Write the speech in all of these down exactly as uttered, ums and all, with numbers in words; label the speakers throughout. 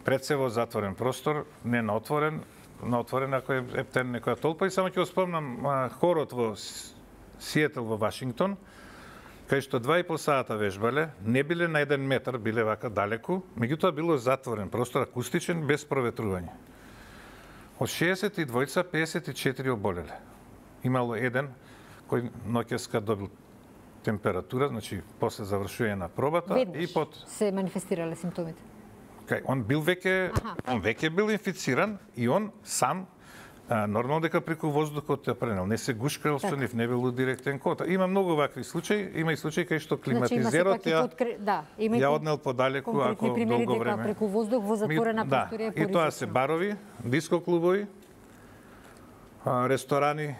Speaker 1: пред се во затворен простор, не на отворен, на отворен ако е ептен некоја толпа. И само ќе го спомнам хорот во Сиетл во Вашингтон, кај што два и пол сата вежбале, не биле на еден метар, биле вака далеку, меѓутоа било затворен простор, акустичен, без проветрување. Од шеесет и двајца, пеесет и четири оболеле. Имало еден кој ноќеска добил температура, значи после завршување на пробата.
Speaker 2: Веднаш
Speaker 1: и под
Speaker 2: се манифестирале симптомите.
Speaker 1: Кај он бил веќе, он веќе бил инфициран и он сам а, нормално дека преку воздухот ја пренел, не се гушкал со нив, не бил директен контакт. Има многу вакви случаи, има и случаи кај што климатизерот
Speaker 2: значи,
Speaker 1: ја
Speaker 2: подкр... да, има
Speaker 1: ја однел подалеку ако долго време.
Speaker 2: Преку воздух во затворена
Speaker 1: да,
Speaker 2: просторија.
Speaker 1: И тоа се барови, диско клубови, ресторани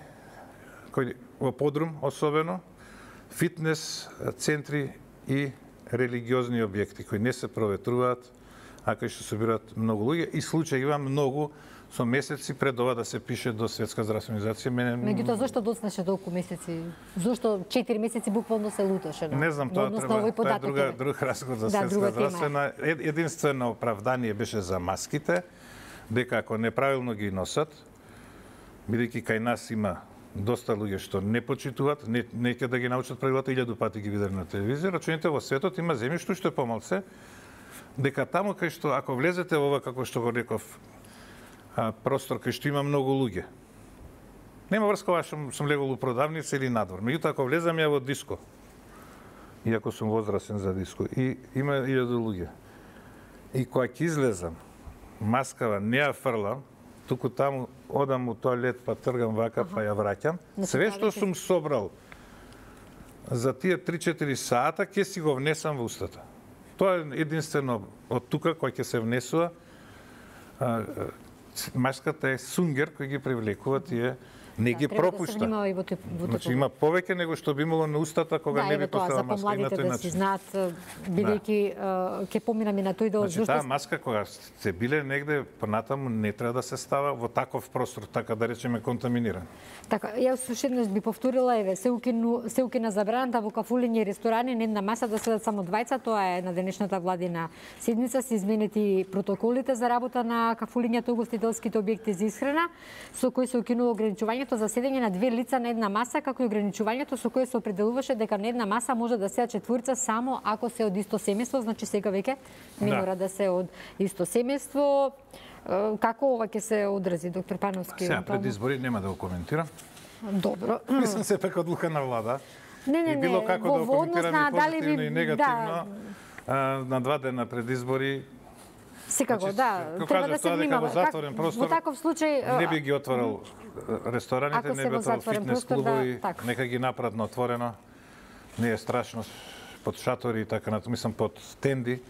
Speaker 1: кои во подрум особено, фитнес центри и религиозни објекти кои не се проветруваат, а кај што собираат многу луѓе и случаи има многу со месеци пред ова да се пише до Светска здравствена организација. Мене
Speaker 2: Меѓутоа зошто доцнеше толку месеци? Зошто четири месеци буквално се луташе?
Speaker 1: Не знам, тоа треба, тоа е друга друг разговор за
Speaker 2: да,
Speaker 1: Светска здравствена. Единствено оправдание беше за маските, дека ако неправилно ги носат, бидејќи кај нас има доста луѓе што не почитуваат, не неќе да ги научат правилата, илјаду пати ги виделе на телевизија, рачуните во светот има земји што што е помалце, дека таму кај што ако влезете во ова како што го реков простор кај што има многу луѓе. Нема врска ова што сум легол у продавница или надвор. Меѓутоа ако влезам ја во диско, иако сум возрастен за диско, и има илјаду луѓе. И кога ќе излезам, маскава не ја фрлам, туку таму одам у тоалет, па тргам вака, ага. Па ја враќам. Све што сум собрал за тие три-четири сата, ќе си го внесам во устата. Тоа е единствено од тука кој ќе се внесува. Маската е сунгер кој ги привлекува тие, не
Speaker 2: да,
Speaker 1: ги пропушта.
Speaker 2: Да во тип, во
Speaker 1: значи има повеќе него што би имало на устата кога
Speaker 2: да,
Speaker 1: не би поставила
Speaker 2: маска.
Speaker 1: Да, за помладите
Speaker 2: да си знаат, бидејќи ќе поминаме на тој дел.
Speaker 1: Значи таа маска кога се биле негде понатаму не треба да се става во таков простор, така да речеме контаминиран.
Speaker 2: Така, јас уште еднаш би повторила, еве, се укину се укина забраната во кафулиња и ресторани на една маса да седат само двајца, тоа е на денешната владина седница, се изменети протоколите за работа на кафулињата и угостителските објекти за исхрана, со кои се укинува ограничувањето за седење на две лица на една маса, како и ограничувањето со кое се определуваше дека на една маса може да седат четворица само ако се од исто семејство, значи сега веќе не да. Мора да се од исто семејство. Како ова ќе се одрази, доктор Пановски?
Speaker 1: Сега, пред избори нема да го коментирам.
Speaker 2: Добро.
Speaker 1: Мислам сепак одлука на влада.
Speaker 2: Не, не,
Speaker 1: и било
Speaker 2: не.
Speaker 1: како
Speaker 2: Во
Speaker 1: да го коментирам и позитивно
Speaker 2: ви...
Speaker 1: и негативно.
Speaker 2: Да.
Speaker 1: На два дена пред избори.
Speaker 2: Секако,
Speaker 1: значи,
Speaker 2: да. Треба да се внимава.
Speaker 1: Во затворен простор,
Speaker 2: во таков случај
Speaker 1: не би ги отворил рестораните, не би отворил фитнес клубови, да, нека ги направат на отворено. Не е страшно под шатори и така, мислам под стенди.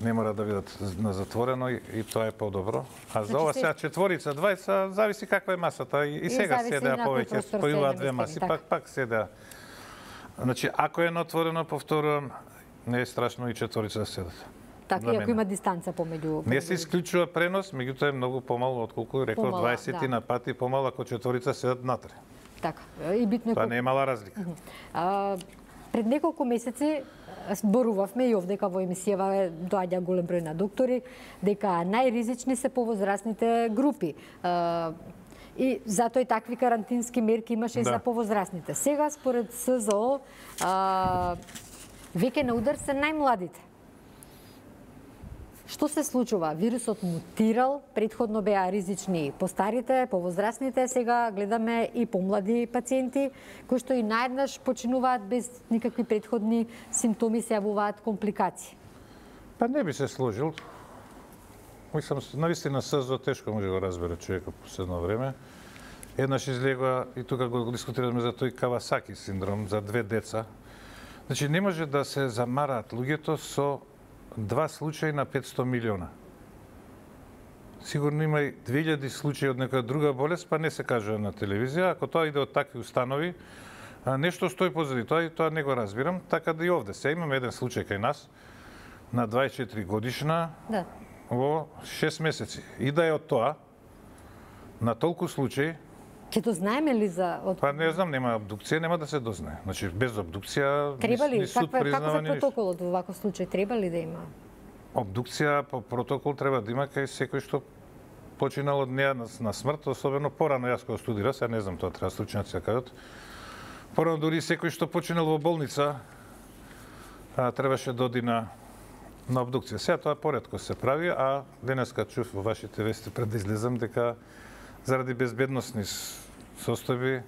Speaker 1: Не мора да бидат на затворено и, и тоа е подобро. А за ова сега четворица, двајца, зависи каква е масата. И, и сега седеа повеќе, спојуваат две маси, пак пак седеа. Значи, ако е на отворено, повторувам, не е страшно и четворица да седат.
Speaker 2: Така, и ако има дистанца помеѓу...
Speaker 1: Не се исклучува пренос, меѓутоа е многу помал, отколку реков дваесет да. На пати помал ако четворица седат натре.
Speaker 2: Така, и битно е...
Speaker 1: Тоа не е мала разлика.
Speaker 2: А, пред неколку месеци зборувавме и овдека во емисијава доаѓа голем број на доктори дека најризични се повозрастните групи. А, и затоа и такви карантински мерки имаше да. И за повозрастните. Сега според СЗО а, веќе на удар се најмладите. Што се случува? Вирусот мутирал, претходно беа ризични постарите, повозрастните, сега гледаме и помлади пациенти, кои што и наеднаш починуваат без никакви претходни симптоми, се јавуваат компликации.
Speaker 1: Па не би се сложил. Мислам, навистина СЗО тешко може да го разбере човекот последно време. Еднаш излегува, и тука го дискутираме за тој Кавасаки синдром, за две деца. Значи, не може да се замараат луѓето со два случаи на петсто милиона. Сигурно има и две илјади случаи од некоја друга болест, па не се кажува на телевизија. Ако тоа иде од такви установи, нешто стои позади тоа и тоа не го разбирам. Така да и овде. Се имаме еден случај кај нас на дваесет и четири годишна да. Во шест месеци. И да е од тоа, на толку случаи,
Speaker 2: ќе дознаеме ли за... Од...
Speaker 1: Па не знам, нема обдукција, нема да се дознае. Значи, без обдукција,
Speaker 2: треба ли?
Speaker 1: ни суд
Speaker 2: Каква,
Speaker 1: признава
Speaker 2: како е протоколот во ваков случај? Треба ли да има?
Speaker 1: обдукција по протокол треба да има кај секој што починал од неа на смрт, особено порано јас кога студирав, сега не знам тоа, треба стручњаци да кажат. Порано дури секој што починал во болница а, требаше да оди на на обдукција. Сега тоа поретко се прави, а денеска чув во вашите вести пред да излезам дека заради безбедносни состојби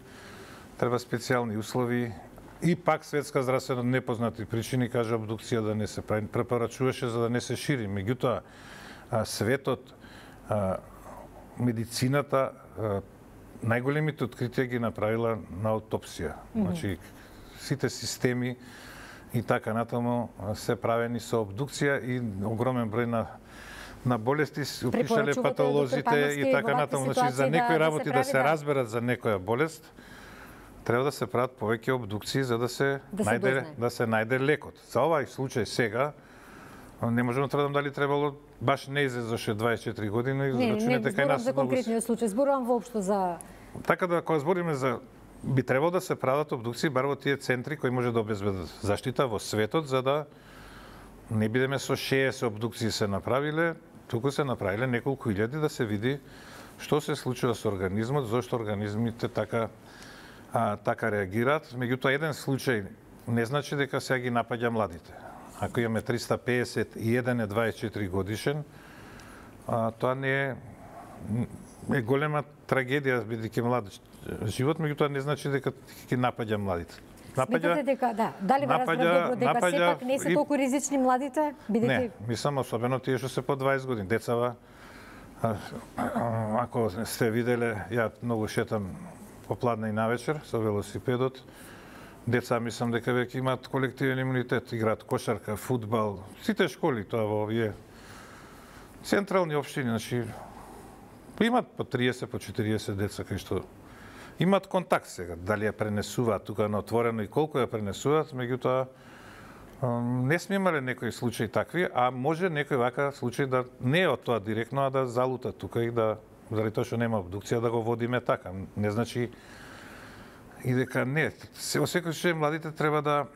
Speaker 1: треба специјални услови и пак Светска здравствена непознати причини кажа обдукција да не се прави. Препорачуваше за да не се шири. Меѓутоа светот, медицината најголемите откритија ги направила на аутопсија. Mm-hmm. Значи сите системи и така натаму се правени со обдукција и огромен број на на болести опишале патолозите и така натаму. Значи за некои работи да, да се разберат за некоја болест, треба да се прават повеќе обдукции за да се да најде се да се најде лекот. За овај случај сега не можам да тврдам дали требало баш не излезоше дваесет и четири години и зрачунете кај нас.
Speaker 2: Не, не, за конкретниот случај, зборувам воопшто за
Speaker 1: така да кога збориме за би требало да се прават обдукции бар во тие центри кои може да обезбедат заштита во светот за да не бидеме со шеесет обдукции се направиле, туку се направиле неколку илјади да се види што се случува со организмот, зошто организмите така а, така реагираат. Меѓутоа еден случај не значи дека сега ги напаѓа младите. Ако имаме триста пеесет и еден е дваесет и четири годишен, а, тоа не е е голема трагедија бидејќи млад живот, меѓутоа не значи дека ќе напаѓа младите.
Speaker 2: Напаѓа, сметате дека да, дали ве разбрав добро дека напаѓа, сепак не се и... толку ризични младите, бидејќи
Speaker 1: не, мислам особено тие што се по дваесет години, децава. А, ако сте виделе, ја многу шетам попладне и навечер со велосипедот. Деца мислам дека веќе имаат колективен имунитет, играат кошарка, фудбал, сите школи тоа во овие централни општини, значи имаат по триесет, по четириесет деца кај што имаат контакт сега, дали ја пренесуваат тука на отворено и колку ја пренесуваат, меѓутоа не сме имале некои случаи такви, а може некој вака случај да не е од тоа директно, а да залута тука и да, заради тоа што нема обдукција, да го водиме така. Не значи и дека не. Во секој случај младите треба да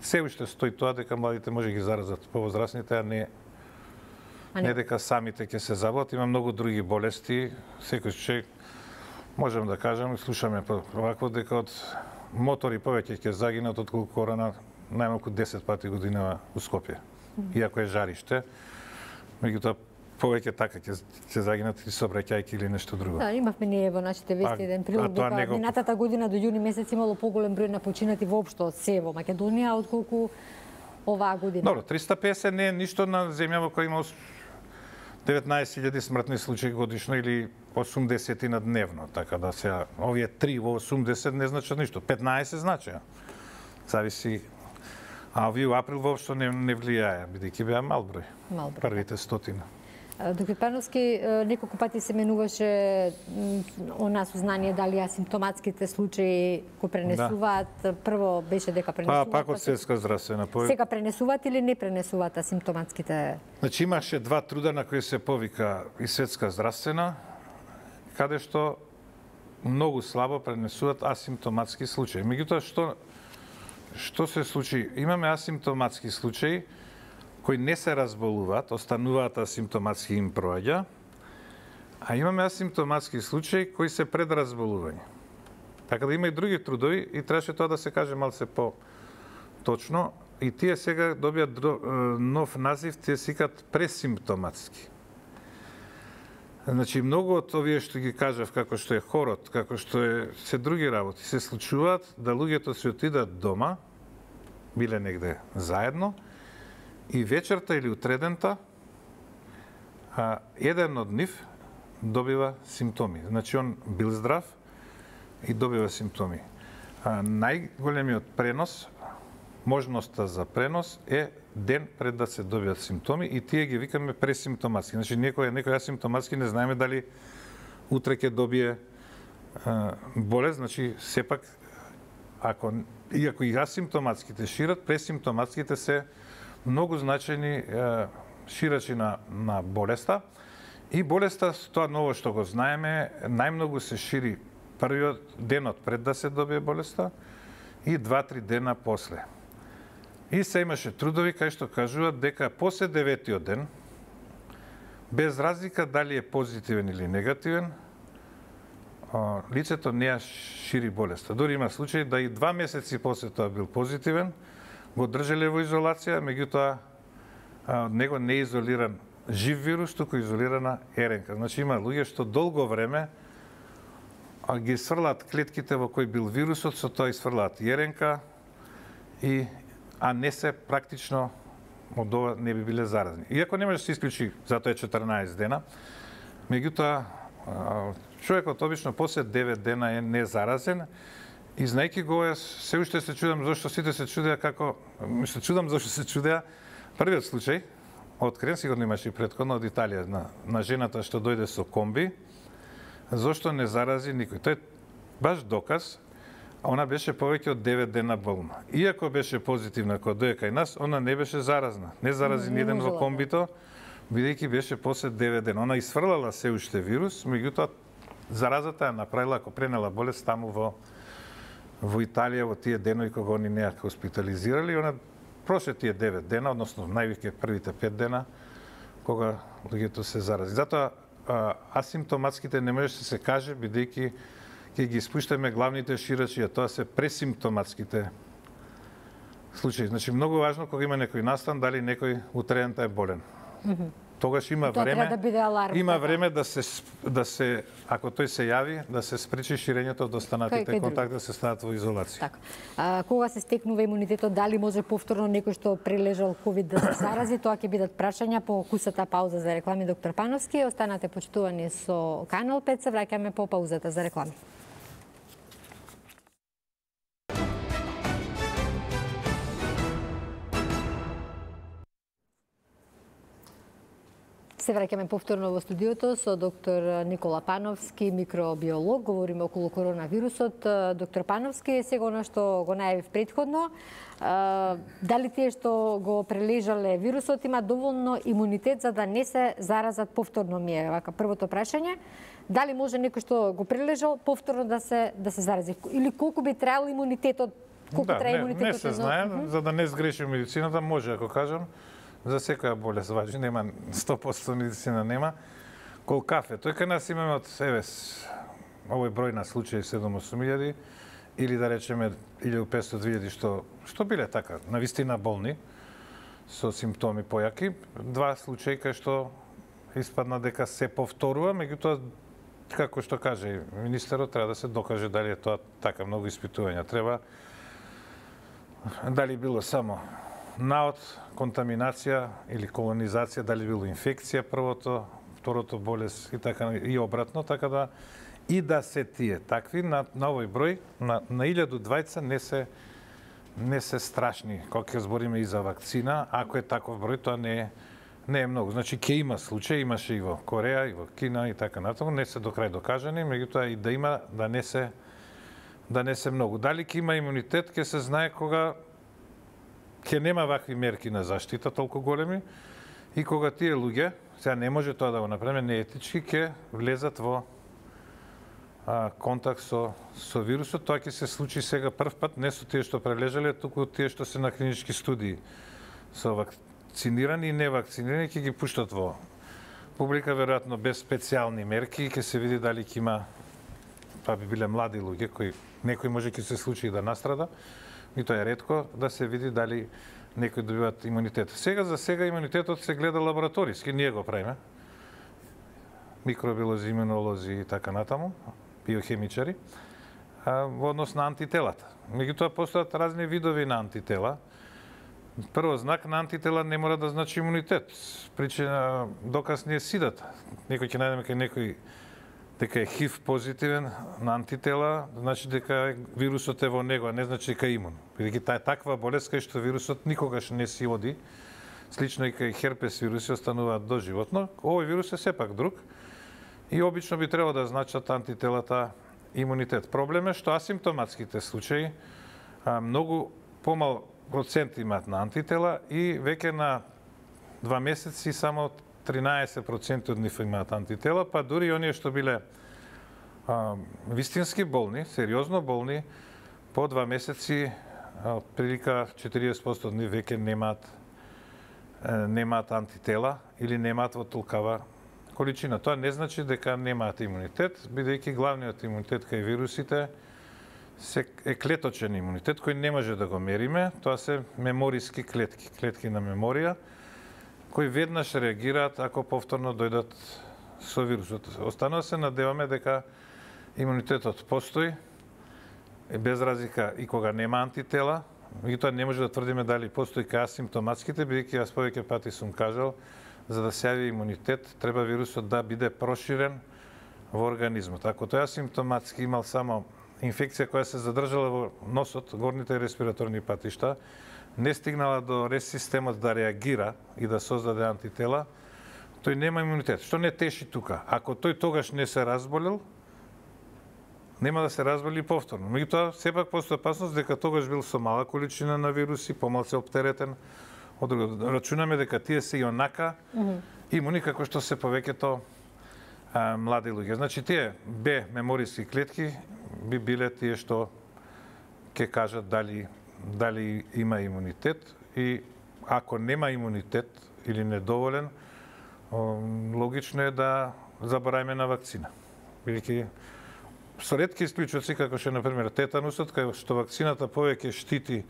Speaker 1: се уште стои тоа дека младите може ги заразат повозрасните, а не а не. не дека самите ќе се заболат. Има многу други болести. Секој случај можам да кажам, слушаме овако дека од мотори повеќе ќе загинат отколку корона најмалку десет пати годинава у Скопје. Иако е жариште, меѓутоа повеќе така ќе ќе загинат и сообраќајки или нешто друго.
Speaker 2: Да, имавме ние во нашите вести еден прилог дека него... минатата година до јуни месец имало поголем број на починати воопшто од се во Македонија отколку оваа година.
Speaker 1: Добро, триста пеесет не е ништо на земја во која има деветнаесет илјади смртни случаи годишно или осумдесет на дневно, така да сега овие три во осумдесет не значат ништо, петнаесет значи. Зависи. А овие во април воопшто не, не влијае, бидејќи беа мал број.
Speaker 2: Мал број.
Speaker 1: Првите стотина.
Speaker 2: Доктор Пановски, неколку пати се менуваше она сознание дали асимптоматските случаи го пренесуваат. Да. Прво беше дека пренесуваат.
Speaker 1: Па, пак од Светска здравствена.
Speaker 2: Сега пренесуваат или не пренесуваат асимптоматските?
Speaker 1: Значи имаше два труда на кои се повика и Светска здравствена, каде што многу слабо пренесуваат асимптоматски случаи. Меѓутоа што што се случи? Имаме асимптоматски случаи кои не се разболуваат, остануваат асимптоматски им проаѓа, а имаме асимптоматски случаи кои се пред разболување. Така да има и други трудови и требаше тоа да се каже малце по-точно. И тие сега добијат нов назив, тие се викаат пресимптоматски. Значи, многу од овие што ги кажав, како што е хорот, како што е се други работи, се случуваат да луѓето се отидат дома, биле негде заедно, и вечерта или утредента, а, еден од нив добива симптоми. Значи, он бил здрав и добива симптоми. А, најголемиот пренос, можноста за пренос е ден пред да се добијат симптоми и тие ги викаме пресимптоматски. Значи, некој, некој асимптоматски не знаеме дали утре ќе добие а, болест, значи, сепак, ако, иако и асимптоматските шират, пресимптоматските се многу значајни е, ширачи на, на болеста. И болеста, тоа ново што го знаеме, најмногу се шири првиот денот пред да се добие болеста и два-три дена после. И се имаше трудови кај што кажуваат дека после деветиот ден, без разлика дали е позитивен или негативен, лицето не ја шири болеста. Дори има случаи да и два месеци после тоа бил позитивен, го држале во изолација, меѓутоа од него не е изолиран жив вирус, туку изолирана РНК. Значи има луѓе што долго време ги сврлаат клетките во кои бил вирусот, со тоа изфрлаат и РНК, и, а не се практично од ова не би биле заразни. Иако не може да се исклучи, затоа е четрнаесет дена, меѓутоа човекот обично после девет дена е незаразен, и знаејќи го, се уште се чудам зашто сите се чудеа како, се чудам зашто се чудеа првиот случај, открен, сигурно имаше и претходно од Италија, на, на жената што дојде со комби, зашто не зарази никој. Тој баш доказ, она беше повеќе од девет дена болна. Иако беше позитивна кога дојде кај нас, она не беше заразна. Не зарази ни еден во комбито, бидејќи беше после девет дена. Она изфрлала се уште вирус, меѓутоа заразата ја направила, ако пренела болест таму во во Италија во тие денови кога они не ја хоспитализирали, она прошли тие девет дена, односно највеќе првите пет дена кога луѓето се зарази. Затоа асимптоматските не може да се каже, бидејќи ќе ги испуштаме главните ширачи, а тоа се пресимптоматските случаи. Значи многу важно кога има некој настан дали некој утредента е болен. Mm-hmm. Тогаш има
Speaker 2: тоа
Speaker 1: време,
Speaker 2: да биде аларм,
Speaker 1: има
Speaker 2: така.
Speaker 1: време да се да се ако тој се јави, да се спречи ширењето од останатите контакти, да се стават во изолација.
Speaker 2: Така. А, кога се стекнува имунитетот, дали може повторно некој што прележал ковид да се зарази, тоа ќе бидат прашања по кусата пауза за реклами. Доктор Пановски, останате почитувани со Канал пет, се враќаме по паузата за реклами. Се враќаме повторно во студиото со доктор Никола Пановски, микробиолог. Говориме околу коронавирусот. Доктор Пановски, сега оно што го најавив претходно, дали тие што го прележале вирусот има доволно имунитет за да не се заразат повторно, ми е вака првото прашање. Дали може некој што го прележал повторно да се да се зарази, или колку би требал имунитетот, колку
Speaker 1: да,
Speaker 2: трае
Speaker 1: не,
Speaker 2: имунитетот?
Speaker 1: Не се знае, mm -hmm. за да не сгреши медицината, може ако кажам. За секоја болест важи, нема сто проценти медицина нема. Кол кафе, тој кај нас имаме од еве овој број на случаи седум-осум илјади или да речеме илјаду и петстотини до две илјади што што биле така, навистина болни со симптоми појаки, два случаи кај што испадна дека се повторува, меѓутоа како што каже министерот, треба да се докаже дали е тоа така, многу испитувања треба. Дали било само наод, контаминација или колонизација, дали било инфекција првото, второто болест и така и обратно, така да и да се тие такви на, на овој број на на илјаду двајца не се не се страшни. Кога ќе збориме и за вакцина, ако е таков број, тоа не е не е многу. Значи ќе има случаи, имаше и во Кореја, и во Кина и така натаму, не се до крај докажани, меѓутоа и да има да не се да не се многу. Дали ќе има имунитет, ќе се знае кога ќе нема вакви мерки на заштита толку големи и кога тие луѓе, сега не може тоа да го направиме неетички, ќе влезат во а, контакт со со вирусот. Тоа ќе се случи сега прв пат, не со тие што прележале, туку тие што се на клинички студии со вакцинирани и невакцинирани, ќе ги пуштат во публика, веројатно без специјални мерки, ќе се види дали ќе има, па би биле млади луѓе кои некој може ќе се случи да настрада, и тоа е ретко да се види дали некои добиваат имунитет. Сега за сега имунитетот се гледа лабораториски, ние го правиме. Микробиолози, имунолози и така натаму, биохемичари, во однос на антителата. Меѓутоа постојат разни видови на антитела. Прво, знак на антитела не мора да значи имунитет. Причина, доказ не е сидата. Некој ќе најдеме кај некој дека е ХИВ позитивен на антитела, значи дека вирусот е во него, а не значи дека е имун. Бидејќи таа таква болест кај што вирусот никогаш не си оди, слично и кај херпес вируси остануваат доживотно. Овој вирус е сепак друг и обично би требало да значат антителата имунитет. Проблем е што асимптоматските случаи а, многу помал процент имаат на антитела и веќе на два месеци само тринаесет проценти од нив имаат антитела, па дури оние што биле а, вистински болни, сериозно болни, по два месеци прилика четириесет проценти од нив веќе немаат немаат антитела или немаат во толкава количина. Тоа не значи дека немаат имунитет, бидејќи главниот имунитет кај вирусите е клеточен имунитет кој не може да го мериме. Тоа се мемориски клетки, клетки на меморија, кои веднаш реагираат ако повторно дојдат со вирусот. Останува се надеваме дека имунитетот постои, без разлика и кога нема антитела, меѓутоа не може да тврдиме дали постои кај асимптоматските, бидејќи јас повеќе пати сум кажал, за да се јави имунитет, треба вирусот да биде проширен во организмот. Ако тој асимптоматски имал само инфекција која се задржала во носот, горните респираторни патишта, не стигнала до рез системот да реагира и да создаде антитела, тој нема имунитет. Што не теши тука? Ако тој тогаш не се разболел, нема да се разболи повторно. Меѓутоа, сепак постои опасност дека тогаш бил со мала количина на вируси, помалку оптеретен од друго. Рачунаме дека тие се и онака mm -hmm. имуни како што се повеќето а, млади луѓе. Значи, тие Б мемориски клетки би биле тие што ќе кажат дали дали има имунитет и ако нема имунитет или недоволен, логично е да заборајме на вакцина. Бидејќи со ретки исклучоци, како што е, например, тетанусот, кај што вакцината повеќе штити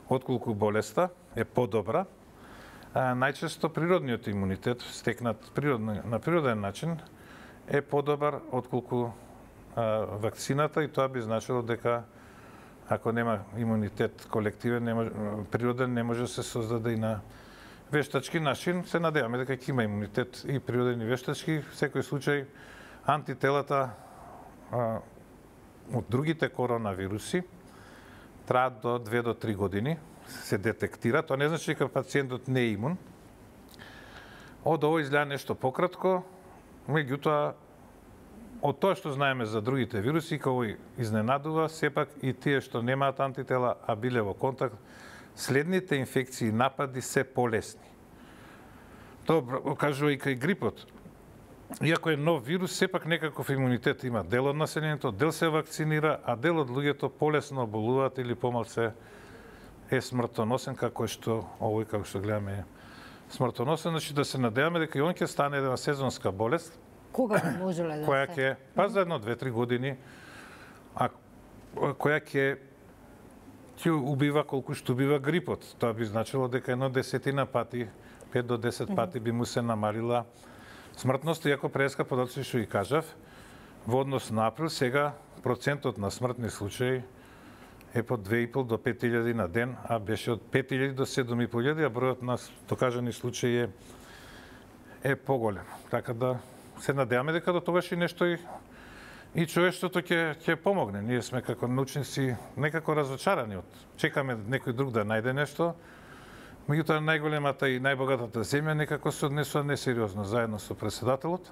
Speaker 1: отколку болеста, е подобра, а, најчесто природниот имунитет, стекнат природно, на природен начин, е подобар отколку а, вакцината и тоа би значило дека ако нема имунитет колективен, не може, природен, не може да се создаде и на вештачки начин. Се надеваме дека ќе има имунитет и природен и вештачки. В секој случај, антителата а, од другите коронавируси траат до две до три години, се детектира. Тоа не значи дека пациентот не е имун. Од ово изгледа нешто пократко, меѓутоа, од тоа што знаеме за другите вируси, кој изненадува, сепак и тие што немаат антитела, а биле во контакт, следните инфекции и напади се полесни. Тоа кажува и кај грипот. Иако е нов вирус, сепак некаков имунитет има дел од населението, дел се вакцинира, а дел од луѓето полесно оболуваат или помалку е смртоносен, како што овој, како што гледаме, е смртоносен. Значи да се надеваме дека и он ќе стане една сезонска болест,
Speaker 2: кога можеле да
Speaker 1: која ќе па за едно две-три години, а која ќе ќе убива колку што убива грипот. Тоа би значило дека едно десетина пати, пет до десет пати би му се намалила смртност, иако преска подоци што и кажав, во однос на април, сега процентот на смртни случаи е по две и пол до пет илјади на ден, а беше од пет илјади до седум и пол илјади, а бројот на докажани случаи е, е поголем. Така да се надеваме дека до тогаш и нешто и, и човештвото ќе ќе помогне. Ние сме како научници некако разочарани од чекаме некој друг да најде нешто. Меѓутоа најголемата и најбогатата земја некако се однесува несериозно заедно со претседателот.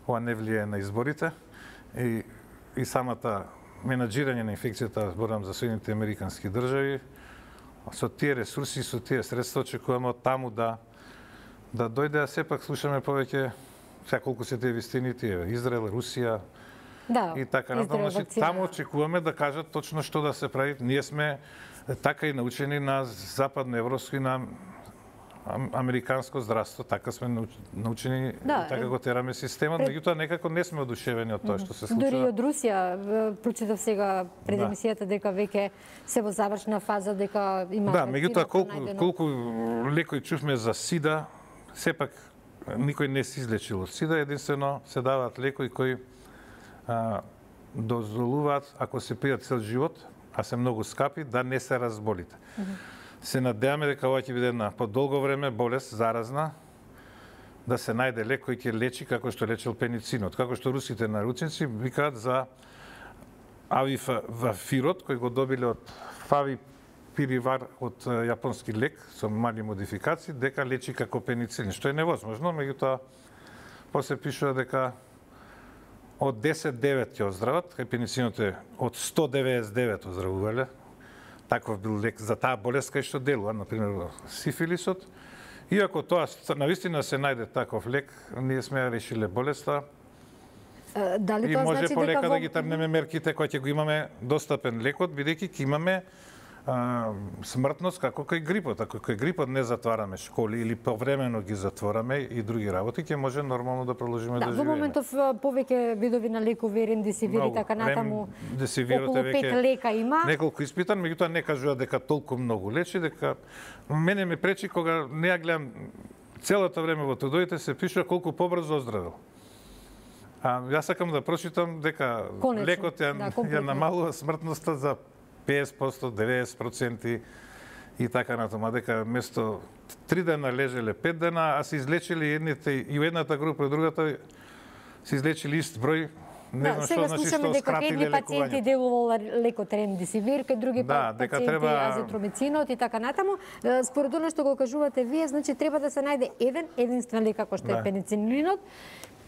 Speaker 1: Ова не влијае на изборите и и самата менаџирање на инфекцијата, зборам за Соединените американски држави, со тие ресурси, со тие средства очекуваме од таму да да дојде, а сепак слушаме повеќе сега колку се тие вистини, тие Израел, Русија,
Speaker 2: да,
Speaker 1: и така натаму. Значи, таму очекуваме да кажат точно што да се прави. Ние сме така и научени на западноевропско и на американско здравство, така сме научени, да, така го тераме системот, пред... меѓутоа некако не сме одушевени од тоа што се случува.
Speaker 2: Дори од Русија прочитав сега пред емисијата дека веќе се во завршна фаза, дека има...
Speaker 1: Да, меѓутоа колку, колку лекој чувме за СИДА, сепак никој не се излечил од СИДА, единствено се даваат лекои кои а, дозволуваат, ако се пијат цел живот, а се многу скапи, да не се разболите. Mm -hmm. Се надеваме дека ова ќе биде една подолго време болест, заразна, да се најде лек кој ќе лечи како што лечил пеницинот. Како што русите научници викаат за авифавирот, кој го добиле од фавипиривар од јапонски лек со мали модификации, дека лечи како пеницилин, што е невозможно, меѓутоа после пишува дека од десет девет ќе оздрават, кај пеницинот е од сто деветдесет и девет оздравувале. Таков бил лек за таа болест кај што делува, например, сифилисот. Иако тоа навистина се најде таков лек, ние сме решиле болеста.
Speaker 2: Дали
Speaker 1: и
Speaker 2: тоа
Speaker 1: може
Speaker 2: значи
Speaker 1: полека
Speaker 2: дека
Speaker 1: да ги трнеме мерките кои ќе го имаме достапен лекот, бидејќи ќе имаме а, смртност како кај грипот. Ако кај грипот не затвараме школи или повремено ги затвораме и други работи, ќе може нормално да продолжиме да,
Speaker 2: да
Speaker 1: живееме.
Speaker 2: Во моментов повеќе видови на лекови, ремдесивир и така натаму.
Speaker 1: Ремдесивирот е
Speaker 2: околу пет лека има.
Speaker 1: Неколку испитан, меѓутоа не кажува дека толку многу лечи, дека мене ме пречи кога не ја гледам целото време во трудовите се пишува колку побрзо оздравил. А јас сакам да прочитам дека
Speaker 2: Конечно,
Speaker 1: лекот ја,
Speaker 2: да,
Speaker 1: ја намалува смртноста за песет проценти, деветдесет проценти и така натаму, дека место три дена лежеле, пет дена, а се излечили едните и у едната група и другата се излечили ист број. Не
Speaker 2: Да,
Speaker 1: знам
Speaker 2: сега
Speaker 1: што значи
Speaker 2: слушаме
Speaker 1: што
Speaker 2: дека
Speaker 1: скратиле
Speaker 2: едни пациенти
Speaker 1: лекувањето.
Speaker 2: делувал лекот ремдесивир, кај други
Speaker 1: Да,
Speaker 2: па-
Speaker 1: дека
Speaker 2: пациенти
Speaker 1: треба-
Speaker 2: азитромицинот и така натаму. Е, Според оно што го кажувате вие, значи треба да се најде еден единствен лек како што е
Speaker 1: Да.
Speaker 2: пеницилинот,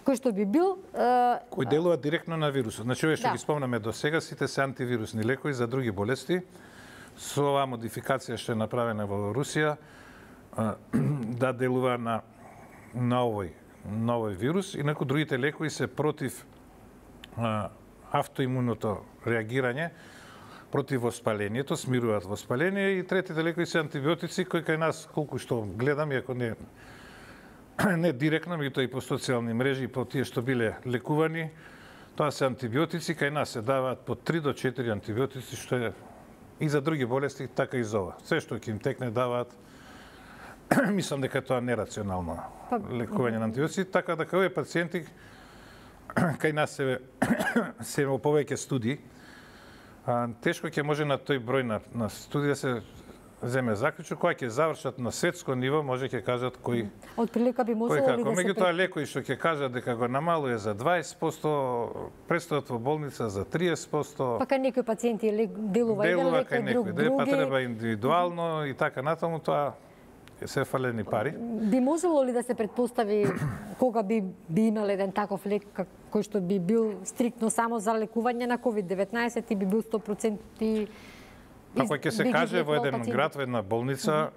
Speaker 2: кој што би бил е,
Speaker 1: Кој делува директно на вирусот. Значи, овие што
Speaker 2: Да.
Speaker 1: ги спомнаме до сега, сите се антивирусни лекови за други болести. Со оваа модификација што е направена во Русија, а, да делува на, на овој, на овој вирус. Инаку другите лекови се против а, автоимуното реагирање, против воспалението, смируваат воспаление, и третите лекови се антибиотици, кои кај нас, колку што гледам, иако не не директно, меѓутоа и по социјални мрежи, и по тие што биле лекувани, тоа се антибиотици, кај нас се даваат по три до четири антибиотици, што е и за други болести, така и за ова. Се што ќе им текне даваат, мислам дека тоа нерационално лекување на антибиотици, така дека овие пациенти кај нас се се во повеќе студии, а, тешко ќе може на тој број на, на студија се земе заклучок, кога ќе завршат на светско ниво, може ќе кажат кој
Speaker 2: отприлика би
Speaker 1: кој
Speaker 2: можело ли
Speaker 1: како.
Speaker 2: да се
Speaker 1: Меѓутоа лекои што ќе кажат дека го намалува за дваесет проценти, престојот во болница за триесет проценти,
Speaker 2: па кај некои пациенти лек делува,
Speaker 1: делува
Speaker 2: еден лек,
Speaker 1: кај
Speaker 2: кај друг
Speaker 1: некој, па
Speaker 2: други.
Speaker 1: треба индивидуално и така натаму, тоа се фалени пари.
Speaker 2: Би можело ли да се предпостави кога би би имал еден таков лек как- кој што би бил стриктно само за лекување на ковид деветнаесет и би бил сто проценти
Speaker 1: Ако ќе се
Speaker 2: би ги
Speaker 1: каже во
Speaker 2: излекувал
Speaker 1: еден
Speaker 2: пациентите?
Speaker 1: град, во една болница,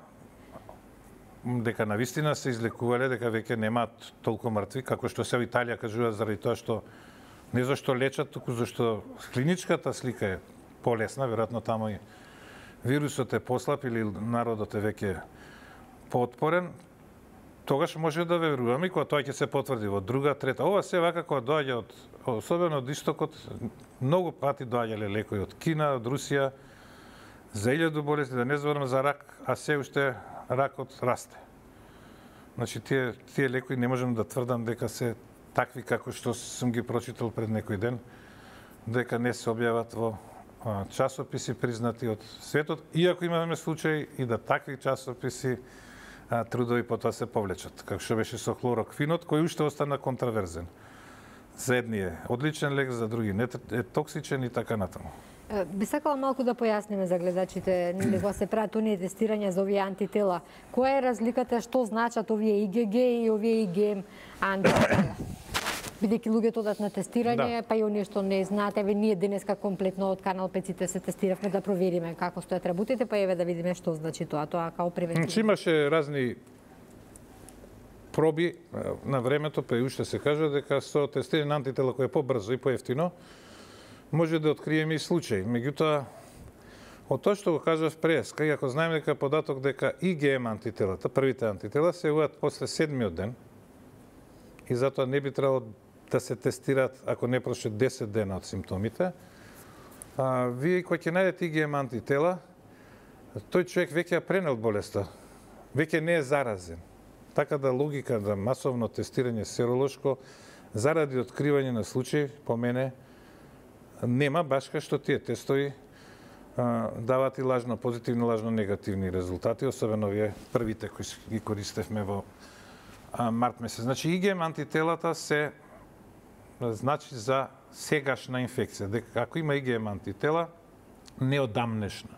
Speaker 1: дека навистина се излекувале, дека веќе немаат толку мртви, како што се во Италија кажува, заради тоа што не зашто лечат, туку зашто клиничката слика е полесна, веројатно таму и вирусот е послаб или народот е веќе поотпорен, тогаш може да веруваме и кога тоа ќе се потврди во друга, трета. Ова се вака кога доаѓа од, особено од истокот, многу пати доаѓале лекои од Кина, од Русија, за илјаду болести, да не зборам за рак, а се уште ракот расте. Значи, тие, тие лекои не можам да тврдам дека се такви како што сум ги прочитал пред некој ден, дека не се објават во а, часописи признати од светот, иако имаме случаи и да такви часописи а, трудови потоа се повлечат, како што беше со хлороквинот, кој уште остана контраверзен. За едни е одличен лек, за други не е токсичен и така натаму.
Speaker 2: Е, Би сакала малку да појасниме за гледачите, нели кога се прават оние тестирања за овие антитела. Која е разликата, што значат овие ИГГ и овие ИГМ антитела? Бидејќи луѓето одат на тестирање,
Speaker 1: Да.
Speaker 2: па и оние што не знаат, еве ние денеска комплетно од Канал пет се тестиравме да провериме како стојат работите, па еве да видиме што значи тоа, тоа како превентивно.
Speaker 1: Значи имаше разни проби на времето, па и уште се кажа дека со тестирање на антитела кој е побрзо и поевтино, може да откриеме и случаи. Меѓутоа, од тоа што го кажав преска, и ако знаеме дека податок дека ИГМ антителата, првите антитела, се јавуваат после седмиот ден, и затоа не би требало да се тестираат ако не проше десет дена од симптомите, а, вие кој ќе најдете ИГМ антитела, тој човек веќе ја пренел болеста, веќе не е заразен. Така да логика да масовно тестирање серолошко заради откривање на случаи, по мене, нема, баш кај што тие тестови а, даваат и лажно позитивни, лажно негативни резултати, особено вие првите кои ги користевме во а, март месец. Значи, ИГМ антителата се значи за сегашна инфекција. Дека ако има ИГМ антитела, неодамнешна.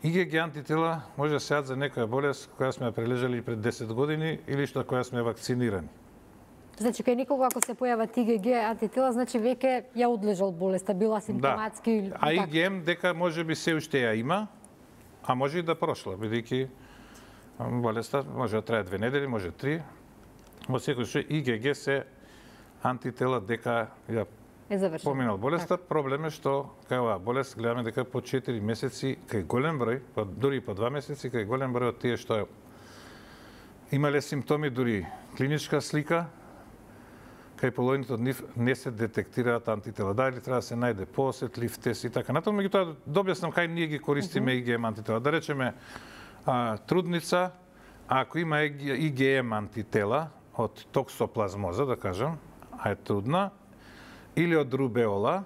Speaker 1: ИГГ антитела може да се јат за некоја болест која сме ја прележали пред десет години или што која сме вакцинирани.
Speaker 2: Значи, кај никога ако се појават ИГГ антитела, значи веќе ја одлежал болеста, била симптоматски.
Speaker 1: Да. А ИГМ дека може би се уште ја има, а може и да прошла, бидејќи болеста може да трае две недели, може три. Во секој случај ИГГ се антитела дека ја
Speaker 2: Е завршено.
Speaker 1: Поминал болеста, проблем е што кај оваа болест гледаме дека по четири месеци кај голем број, па дури по два месеци кај голем број од тие што имале симптоми, дури клиничка слика, кај половината од нив не се детектираат антитела. Дали треба да се најде поосетлив тест и така натаму, меѓутоа да објаснам кај ние ги користиме mm -hmm. ИГМ антитела. Да речеме а, трудница, ако има ИГМ антитела од токсоплазмоза, да кажам, а е трудна, или од рубеола,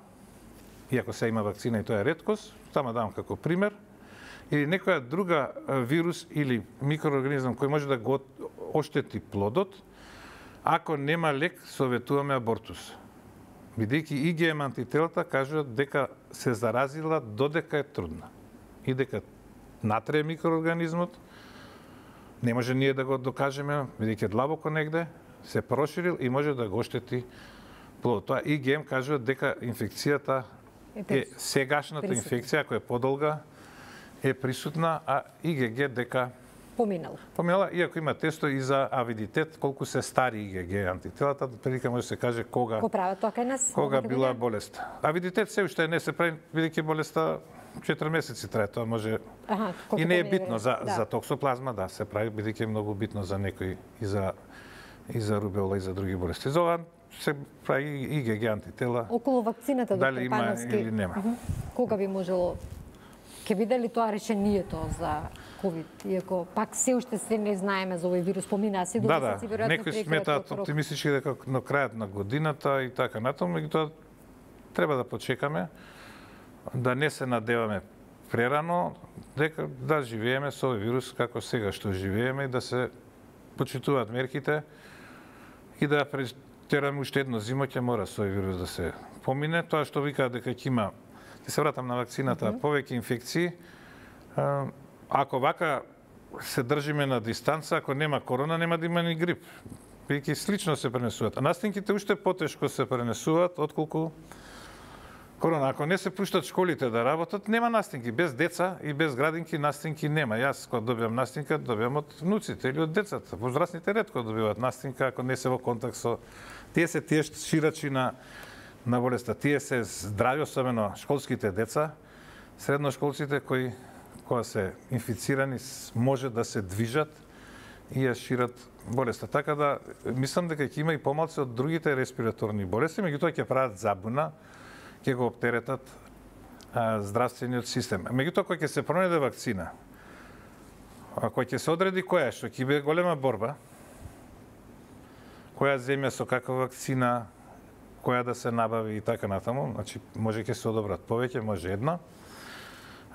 Speaker 1: иако се има вакцина и тоа е реткост, тама давам како пример, или некоја друга вирус или микроорганизам кој може да го оштети плодот, ако нема лек, советуваме абортус. Бидејќи ИГМ антителата кажуваат дека се заразила додека е трудна и дека натрае микроорганизмот, не може ние да го докажеме, бидејќи е длабоко негде, се проширил и може да го оштети плодот. Тоа ИГМ кажува дека инфекцијата е сегашната инфекција, ако е подолга, е присутна, а ИГГ дека
Speaker 2: поминала.
Speaker 1: Поминала, иако има тесто и за авидитет, колку се стари ИГГ антителата, прилика може да се каже кога
Speaker 2: Ко прават тоа кај нас?
Speaker 1: Кога била болест. Авидитет се уште не се прави, бидејќи болеста четири месеци трае, тоа може
Speaker 2: Аха,
Speaker 1: и не е битно за
Speaker 2: да.
Speaker 1: за токсоплазма, да, се прави бидејќи е многу битно за некои и за и за рубеола и за други болести. За ова се прави ИГГ антитела.
Speaker 2: Околу вакцината,
Speaker 1: дали
Speaker 2: доктор
Speaker 1: има
Speaker 2: Пановски,
Speaker 1: или нема.
Speaker 2: Uh -huh. Кога би можело ќе биде ли тоа решението за ковид, иако пак се уште се не знаеме за овој вирус, поминаа си до
Speaker 1: Да,
Speaker 2: месеци,
Speaker 1: да,
Speaker 2: веројатно
Speaker 1: некои
Speaker 2: прекрај
Speaker 1: сметаат
Speaker 2: тој рок.
Speaker 1: оптимистички дека на крајот на годината и така натаму, меѓутоа треба да почекаме, да не се надеваме прерано, дека да живееме со овој вирус како сега што живееме и да се почитуваат мерките и да претераме уште едно зимоќе мора со овој вирус да се помине. Тоа што викаат дека ќе има, ќе се вратам на вакцината, mm -hmm. повеќе инфекции. Ако вака се држиме на дистанца, ако нема корона, нема да има ни грип. Бидејќи слично се пренесуваат. А настинките уште потешко се пренесуваат отколку корона. Ако не се пуштат школите да работат, нема настинки. Без деца и без градинки настинки нема. Јас кога добивам настинка, добивам од внуците или од децата. Возрастните ретко добиваат настинка ако не се во контакт со тие се тие ширачи на на болеста. Тие се здрави, особено школските деца, средношколците кои кога се инфицирани може да се движат и ја шират болеста. Така да мислам дека ќе има и помалци од другите респираторни болести, меѓутоа ќе прават забуна, ќе го оптеретат а, здравствениот систем. Меѓутоа кога ќе се пронајде вакцина, а кога ќе се одреди која што ќе биде голема борба, која земја со каква вакцина, која да се набави и така натаму, значи може ќе се одобрат повеќе, може една.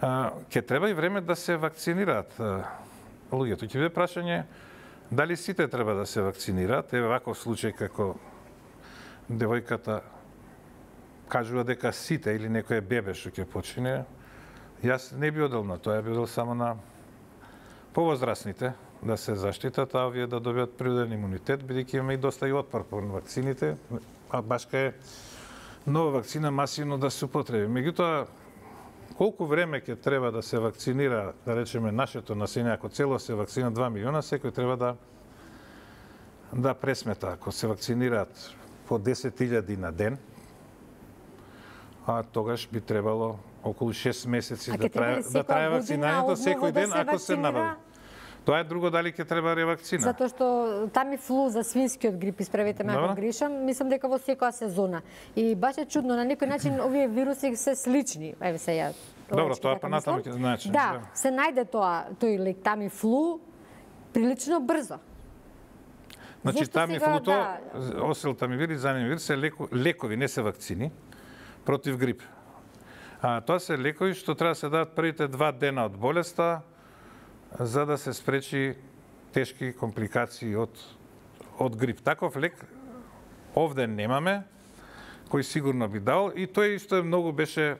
Speaker 1: Ќе треба и време да се вакцинираат луѓето. Ќе биде прашање дали сите треба да се вакцинираат. Еве ваков случај како девојката кажува дека сите или некој бебе што ќе почине. Јас не би одел на тоа, би одел само на повозрастните да се заштитат, а овие да добијат природен имунитет, бидејќи имаме и доста и отпор по вакцините, а башка е нова вакцина масивно да се употреби. Меѓутоа, колку време ќе треба да се вакцинира, да речеме, нашето население, ако цело се вакцина два милиона, секој треба да да пресмета. Ако се вакцинираат по десет илјади на ден, а тогаш би требало околу шест месеци
Speaker 2: а
Speaker 1: да трае да трае вакцинирањето секој ден,
Speaker 2: да
Speaker 1: ако се набави. Тоа е друго дали ќе треба ревакцина.
Speaker 2: Затоа што тамифлу за свинскиот грип, исправете ме ако грешам, мислам дека во секоја сезона. И баш е чудно, на некој начин овие вируси се слични. Еве се ја.
Speaker 1: Добро, тоа па натаму ќе значи.
Speaker 2: Да, се најде тоа, тој лек тамифлу прилично брзо.
Speaker 1: Значи тамифлуто, да... осел тамивир и занемивир се леко, лекови, не се вакцини против грип. А тоа се лекови што треба да се дадат првите два дена од болеста, за да се спречи тешки компликации од од грип. Таков лек овде немаме, кој сигурно би дал, и тој исто многу беше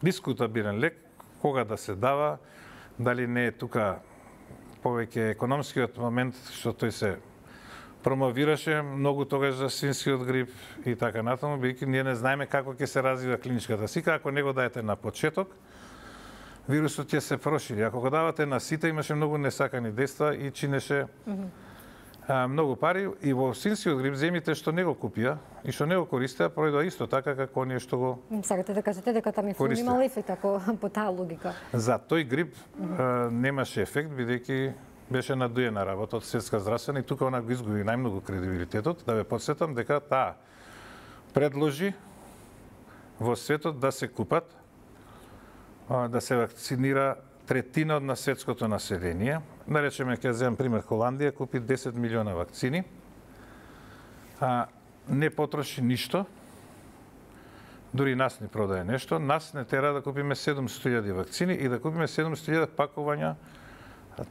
Speaker 1: дискутабилен лек, кога да се дава, дали не е тука повеќе економскиот момент што тој се промовираше многу тогаш за свинскиот грип и така натаму, бидејќи ние не знаеме како ќе се развива клиничката слика, ако не го даете на почеток, вирусот ќе се прошири. Ако го давате на сите, имаше многу несакани дејства и чинеше mm -hmm. а, многу пари и во свинскиот грип земите што не го купија и што не го користеа пројдоа исто така како оние што го
Speaker 2: Сакате да кажете дека тамифлу имал ефект ако по таа логика.
Speaker 1: За тој грип а, немаше ефект бидејќи беше надуена работа од Светска здравствена и тука она го изгуби најмногу кредибилитетот. Да ве потсетам дека таа предложи во светот да се купат, да се вакцинира третина од на светското население. Наречеме, ќе земам пример, Холандија купи десет милиона вакцини, а не потроши ништо, дури нас ни продае нешто, нас не тера да купиме седумстотини илјади вакцини и да купиме седумстотини илјади пакувања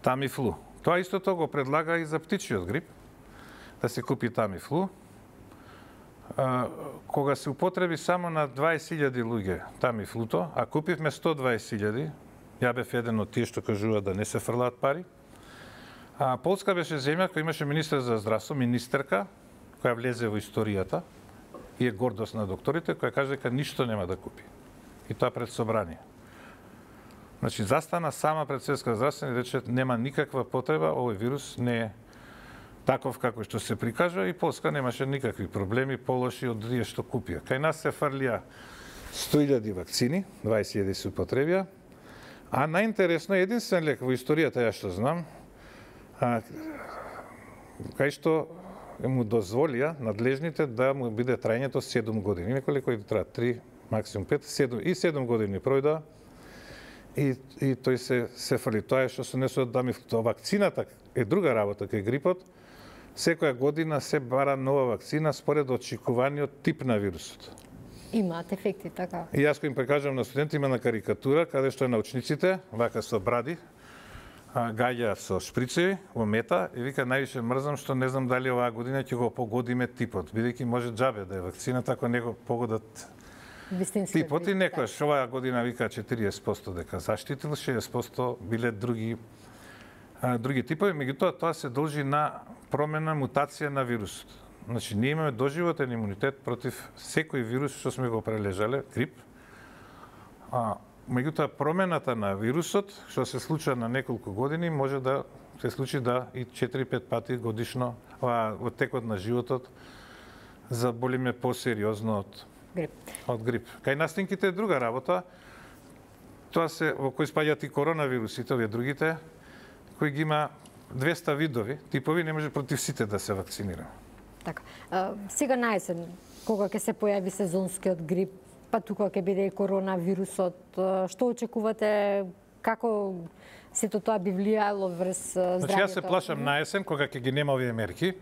Speaker 1: Тамифлу. Тоа истото го предлага и за птичиот грип, да се купи Тамифлу. Кога се употреби само на дваесет илјади луѓе Тамифлуто, а купивме сто дваесет илјади, ја бев еден од тие што кажуваат да не се фрлаат пари. А Полска беше земја која имаше министер за здравство, министерка, која влезе во историјата и е гордост на докторите, која каже дека ништо нема да купи. И тоа пред собрание. Значи, застана сама пред Светска здравствена и рече нема никаква потреба, овој вирус не е таков како што се прикажува и Полска немаше никакви проблеми полоши од тие што купија. Кај нас се фрлија сто илјади вакцини, дваесет илјади се употребија, а најинтересно е единствен лек во историјата, ја што знам, а, кај што му дозволија надлежните да му биде трајањето седум години. Неколку кои траат три, максимум пет, седум и седум години пројдоа и и тој се се фрли. Тоа е што се несува да ми вакцината е друга работа кај грипот. Секоја година се бара нова вакцина според очекуваниот тип на вирусот.
Speaker 2: Имаат ефекти, така. И
Speaker 1: јас кој им прекажам на студенти, има на карикатура, каде што научниците, вака со бради, гаѓа со шприцеви во мета и вика највише мрзам што не знам дали оваа година ќе го погодиме типот, бидејќи може џабе да е вакцината ако не го погодат типот и некојаш оваа година вика четириесет проценти дека заштитил, шеесет проценти биле други а, други типови, меѓутоа тоа се должи на промена, мутација на вирусот. Значи, ние имаме доживотен имунитет против секој вирус што сме го прележале, грип. А, меѓутоа, промената на вирусот, што се случува на неколку години, може да се случи да и четири-пет пати годишно а, во текот на животот заболиме посериозно од
Speaker 2: грип.
Speaker 1: Од грип. Кај настинките е друга работа. Тоа се во кои спаѓаат и коронавирусите, овие другите, кои ги има двеста видови, типови, не може против сите да се вакцинира.
Speaker 2: Така. А, сега наесен, кога ќе се појави сезонскиот грип, па тука ќе биде и коронавирусот, што очекувате, како сето тоа би влијало врз здравјето?
Speaker 1: Значи, јас се плашам наесен, кога ќе ги нема овие мерки,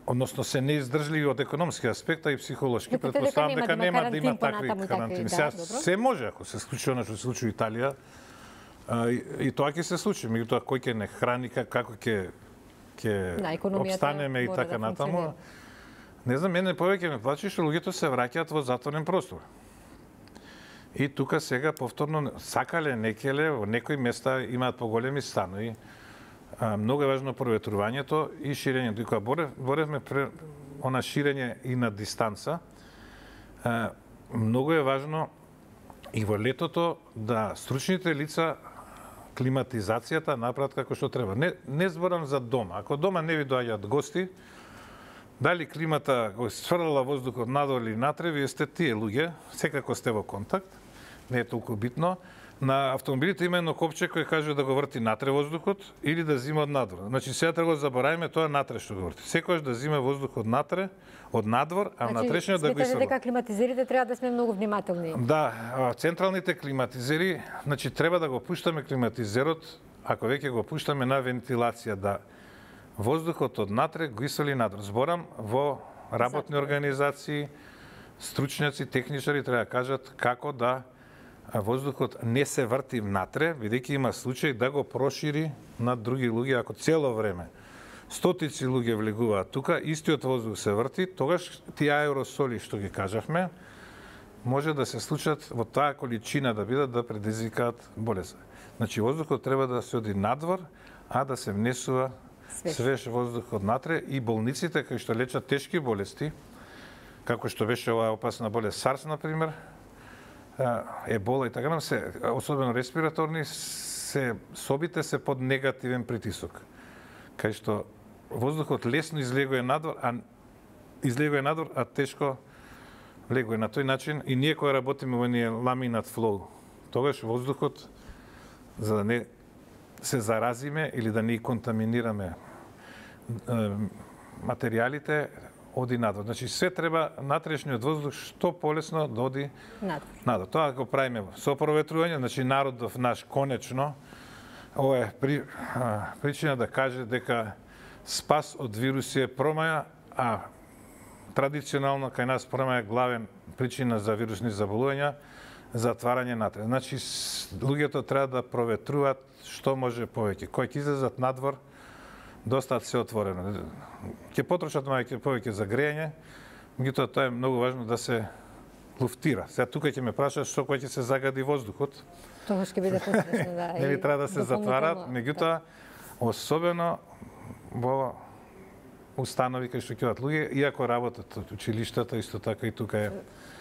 Speaker 1: односно се неиздржливи од економски аспект, а и психолошки. Претпоставам дека нема да има такви карантини. Сега се може, ако се случи она што се случи во Италија, и, и тоа ќе се случи. Меѓутоа, кој ќе не храни, како ќе ќе обстанеме и така да натаму. Не знам, мене повеќе ме плачи што луѓето се враќаат во затворен простор. И тука сега повторно сакале, некеле, во некои места имаат поголеми станови. А, многу е важно проветрувањето и ширењето. И кога борев, боревме пре она ширење и на дистанца, а, многу е важно и во летото да стручните лица климатизацијата направат како што треба. Не, не зборам за дома. Ако дома не ви доаѓаат гости, дали климата го сфрлала воздухот надвор или натре, вие сте тие луѓе, секако сте во контакт, не е толку битно. На автомобилите има едно копче кој каже да го врти натре воздухот или да зима од надвор. Значи сега треба да забораваме тоа натре што го врти. Секогаш да зима воздух од натре, од надвор, а значи, внатрешниот да го исфрла.
Speaker 2: Сметате дека климатизерите треба да сме многу внимателни.
Speaker 1: Да, централните климатизери, значи треба да го пуштаме климатизерот, ако веќе го пуштаме на вентилација, да воздухот од натре го исфрли надвор. Зборам во работни организации, стручњаци, техничари треба да кажат како да воздухот не се врти внатре, бидејќи има случај да го прошири на други луѓе, ако цело време стотици луѓе влегуваат тука, истиот воздух се врти, тогаш тие аеросоли што ги кажавме, може да се случат во таа количина да бидат да предизвикаат болест. Значи воздухот треба да се оди надвор, а да се внесува свеж, свеж воздух од натре и болниците кои што лечат тешки болести, како што беше оваа опасна болест SARS на пример, ебола и така нам се, особено респираторни, се собите се под негативен притисок. Кај што воздухот лесно излегува надвор, а излегува надвор, а тешко влегува. На тој начин и ние кога работиме во ние ламинат флоу, тогаш воздухот, за да не се заразиме или да не контаминираме материјалите, оди надвор. Значи се треба натрешниот воздух што полесно да оди надвор. надвор. Тоа го правиме со проветрување, значи народов наш конечно ова е при, а, причина да каже дека спас од вируси е промаја, а традиционално кај нас промаја е главен причина за вирусни заболувања, затварање натре. Значи луѓето треба да проветруваат што може повеќе. Кој ќе излезат надвор, доста се отворено. Ќе потрошат мајке повеќе за грејење, меѓутоа тоа е многу важно да се луфтира. Сега тука ќе ме прашаш што кој ќе се загади воздухот.
Speaker 2: Тогаш ќе биде потрешно, да.
Speaker 1: Нели треба да се затварат, меѓутоа особено во установи кај што ќе одат луѓе, иако работат од училиштата, исто така и тука е.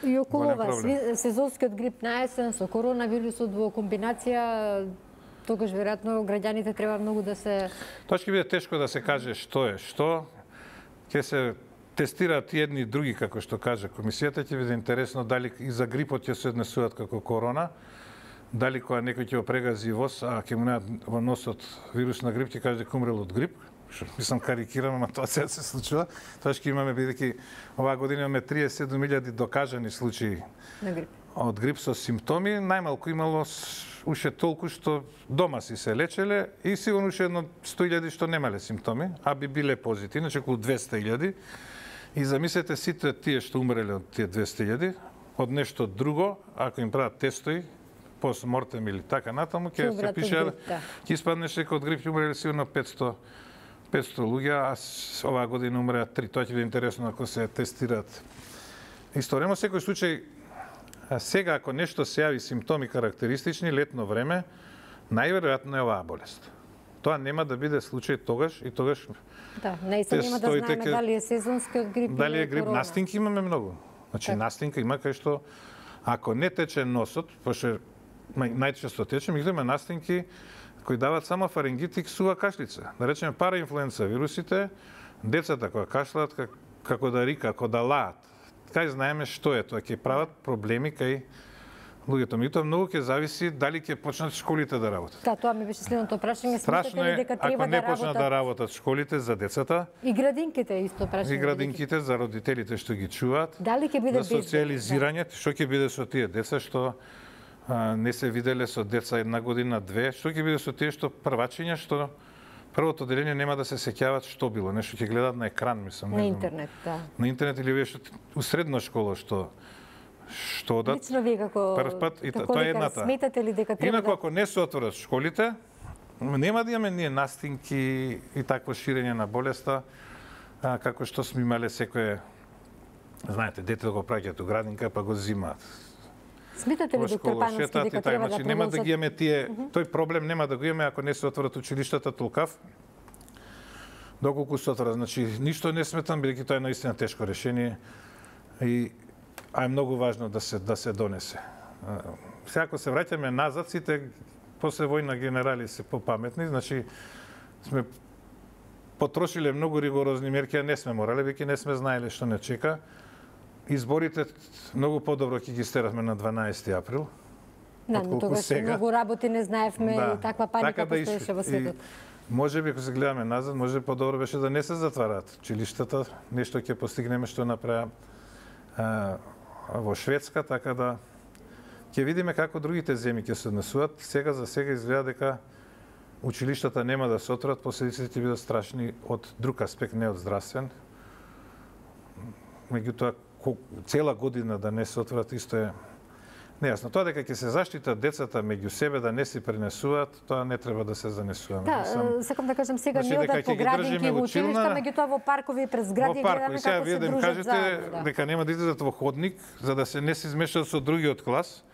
Speaker 2: И околу ова сезонскиот грип на есен со коронавирусот во комбинација, тогаш веројатно граѓаните треба многу да се...
Speaker 1: Тоа ќе биде тешко да се каже што е што. Ќе се тестираат и едни и други, како што каже комисијата, ќе биде интересно дали и за грипот ќе се однесуваат како корона, дали кога некој ќе го прегази воз, а ќе му најдат во носот вирус на грип, ќе каже дека умрел од грип. Што мислам карикирам, ама тоа сега се случува. Тоа ќе имаме, бидејќи оваа година имаме триесет и седум илјади докажани случаи
Speaker 2: на грип.
Speaker 1: Од грип со симптоми, најмалку имало уште толку што дома си се лечеле и сигурно уште едно сто илјади што немале симптоми, а би биле позитивни, значи околу двесте илјади. И замислете сите тие што умреле од тие двесте илјади, од нешто друго, ако им прават тестови, постмортем или така натаму, ќе се пише, ќе испаднеше дека од грип ќе умреле сигурно петсто луѓе, а оваа година умреа три. Тоа ќе биде интересно ако се тестираат. Исторемо секој случај, сега ако нешто се јави симптоми карактеристични, летно време, најверојатно е оваа болест. Тоа нема да биде случај тогаш и тогаш.
Speaker 2: Да, наистина нема да знаеме дали е сезонскиот грип или
Speaker 1: дали е грип. Настинки имаме многу. Значи так. Настинка има кај што ако не тече носот, пошто најчесто тече, меѓутоа има настинки кои дават само фарингит и ксува кашлица. Да речеме параинфлуенца вирусите, децата кога кашлаат како да рика, како да лаат. Кај знаеме што е тоа, ќе прават проблеми кај луѓето. Меѓутоа многу ќе зависи дали ќе почнат школите да работат.
Speaker 2: Да, тоа ми беше следното прашање.
Speaker 1: Страшно е
Speaker 2: дека треба
Speaker 1: ако не
Speaker 2: да
Speaker 1: почнат
Speaker 2: работат...
Speaker 1: да работат школите за децата.
Speaker 2: И градинките исто прашање.
Speaker 1: И градинките за родителите што ги чуваат.
Speaker 2: Дали ќе биде
Speaker 1: за социализирање, да. Што ќе биде со тие деца што а, не се виделе со деца една година, две, што ќе биде со тие што првачиња што првото деление нема да се сеќаваат што било, нешто ќе гледаат на екран, мислам.
Speaker 2: На интернет, да.
Speaker 1: На интернет или вие што у средна школа што што одат.
Speaker 2: Лично вие како
Speaker 1: прв пат и
Speaker 2: како
Speaker 1: тоа е едната.
Speaker 2: Сметате ли дека треба
Speaker 1: Инаку
Speaker 2: да...
Speaker 1: ако не се отворат школите, нема да имаме ние настинки и такво ширење на болеста, а, како што сме имале секое, знаете, дете го праќаат у градинка па го зимаат.
Speaker 2: Сметате ли доктор Пановски дека треба
Speaker 1: значи,
Speaker 2: да
Speaker 1: нема да ги имаме тие,
Speaker 2: uh -huh.
Speaker 1: тој проблем нема да го имаме ако не се отворат училиштата толкав. Доколку се отворат, значи ништо не сметам бидејќи тоа е наистина тешко решение и а е многу важно да се да се донесе. Сега ако се враќаме назад, сите после војна генерали се попаметни, значи сме потрошиле многу ригорозни мерки, а не сме морале, веќе не сме знаеле што не чека. Изборите многу подобро ќе ги стеравме на дванаесети април.
Speaker 2: Да, но тогаш многу работи не знаевме
Speaker 1: да,
Speaker 2: и таква паника
Speaker 1: така да
Speaker 2: постоеше во светот.
Speaker 1: Може би, ако се гледаме назад, може би подобро беше да не се затвараат училиштата, нешто ќе постигнеме што направи во Шведска, така да ќе видиме како другите земји ќе се однесуваат. Сега за сега изгледа дека училиштата нема да се отворат, последиците ќе бидат страшни од друг аспект, не од здравствен. Меѓутоа, цела година да не се отворат исто е нејасно. Тоа дека ќе се заштитат децата меѓу себе да не се пренесуваат, тоа не треба да се занесуваме.
Speaker 2: Да, Сам... сакам да кажам сега не одат по градинки во училишта, меѓутоа во паркови през гради гледаме како се дружат
Speaker 1: кажете
Speaker 2: заедно. Да.
Speaker 1: дека нема да излезат во ходник за да се не се измешаат со другиот клас.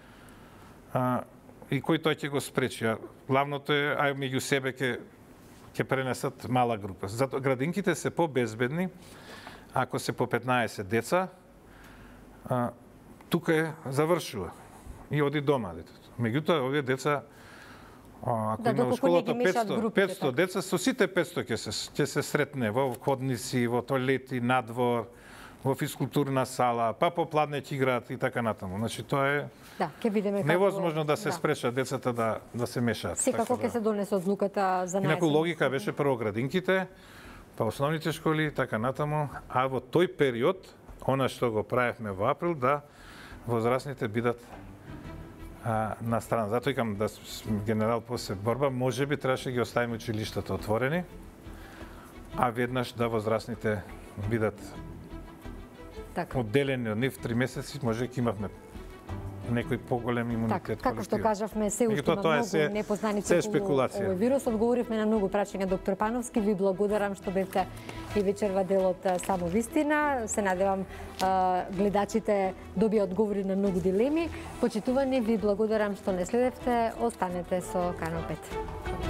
Speaker 1: А, и кој тоа ќе го спречи? А, главното е ај меѓу себе ќе ќе пренесат мала група. Затоа градинките се побезбедни ако се по петнаесет деца. А, тука е завршува и оди дома детето. Меѓутоа овие деца А, ако
Speaker 2: Да,
Speaker 1: има во
Speaker 2: доколку не ги
Speaker 1: школата
Speaker 2: мешаат
Speaker 1: петсто,
Speaker 2: групите,
Speaker 1: петсто деца, со сите петсто ќе се ќе се сретне во ходници, во тоалети, надвор, во физкултурна сала, па по пладнеќ играат и така натаму. Значи тоа е
Speaker 2: Да, ќе видиме како
Speaker 1: невозможно да се спречат децата да да се мешаат.
Speaker 2: Секако ќе
Speaker 1: така да.
Speaker 2: се донесе одлуката за
Speaker 1: Инаку
Speaker 2: најзен.
Speaker 1: логика беше прво градинките, па основните школи и така натаму, а во тој период, она што го правевме во април, да возрастните бидат а, на страна. Затоа викам да с- генерал после борба, може би требаше да ги оставиме училиштата отворени, а веднаш да возрастните бидат
Speaker 2: Така.
Speaker 1: одделени од нив три месеци, може ќе имавме некој поголем
Speaker 2: Така,
Speaker 1: имунитет.
Speaker 2: како што
Speaker 1: колективен.
Speaker 2: кажавме, се уште
Speaker 1: Меѓутоа,
Speaker 2: има
Speaker 1: тоа е
Speaker 2: многу
Speaker 1: се-
Speaker 2: непознаници
Speaker 1: се е
Speaker 2: околу
Speaker 1: шпекулација.
Speaker 2: овој вирус. Одговоривме на многу прашања, доктор Пановски. Ви благодарам што бевте и вечерва дел од а, Само вистина. Се надевам а, гледачите добија одговори на многу дилеми. Почитувани, ви благодарам што не следевте. Останете со Канал пет.